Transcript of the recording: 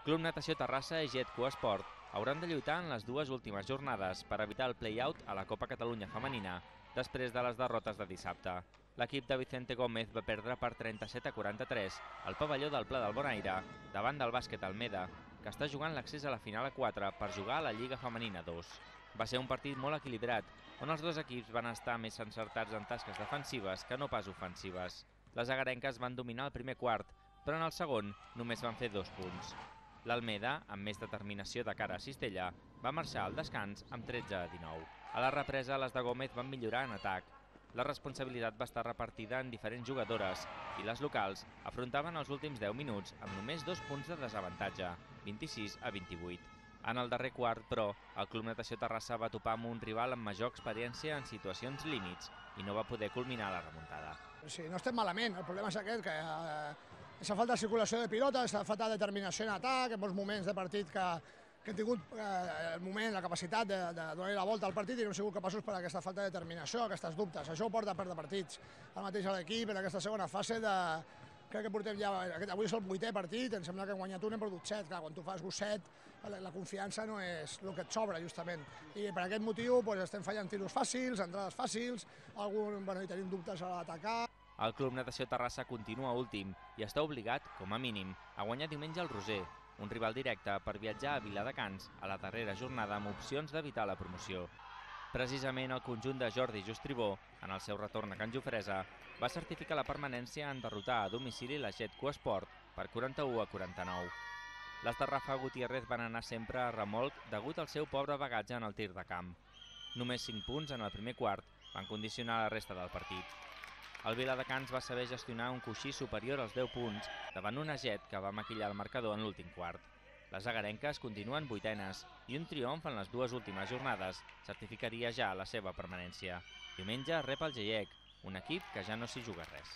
Club Natació Terrassa i Jet Esport hauran de lluitar en les dues últimes jornades per evitar el play-out a la Copa Catalunya Femenina després de les derrotes de dissabte. L'equip de Vicente Gómez va perdre per 37-43 al pavelló del Pla del Bonaire davant del Bàsquet Almeda, que està jugant l'accés a la final a 4 per jugar a la Lliga Femenina 2. Va ser un partit molt equilibrat, on els dos equips van estar més encertats en tasques defensives que no pas ofensives. Les agarenques van dominar el primer quart, però en el segon només van fer 2 punts. L'Almeda, amb més determinació de cara a Cistella, va marxar al descans amb 13-19. A la represa, les de Gómez van millorar en atac. La responsabilitat va estar repartida en diferents jugadores i les locals afrontaven els últims 10 minuts amb només 2 punts de desavantatge, 26-28. En el darrer quart, però, el Club Natació Terrassa va topar amb un rival amb major experiència en situacions límits i no va poder culminar la remuntada. Sí, no estem malament, el problema és aquest, que aquesta falta de circulació de pilota, aquesta falta de determinació en atac, en molts moments de partit que hem tingut el moment, la capacitat de donar la volta al partit i no hem sigut capaços per aquesta falta de determinació, aquests dubtes. Això ho porta a perdre partits. El mateix a l'equip en aquesta segona fase crec que portem ja, avui és el 8è partit, em sembla que hem guanyat un, hem perdut 7. Clar, quan tu fas 7, la confiança no és el que et sobra, justament. I per aquest motiu estem fallant tiros fàcils, entrades fàcils, hi tenim dubtes a l'atacar. El Club Natació Terrassa continua últim i està obligat, com a mínim, a guanyar diumenge al Roser, un rival directe per viatjar a Viladecans a la darrera jornada amb opcions d'evitar la promoció. Precisament el conjunt de Jordi Justribó, en el seu retorn a Can Jofresa, va certificar la permanència en derrotar a domicili la Jet Esport per 41-49. Les de Rafa Gutiérrez van anar sempre a remolc degut al seu pobre bagatge en el tir de camp. Només 5 punts en el primer quart van condicionar la resta del partit. El Viladecans va saber gestionar un coixí superior als 10 punts davant una Jet que va maquillar el marcador en l'últim quart. Les agarenques continuen 8enes i un triomf en les dues últimes jornades certificaria ja la seva permanència. Diumenge rep el Geiec, un equip que ja no s'hi juga res.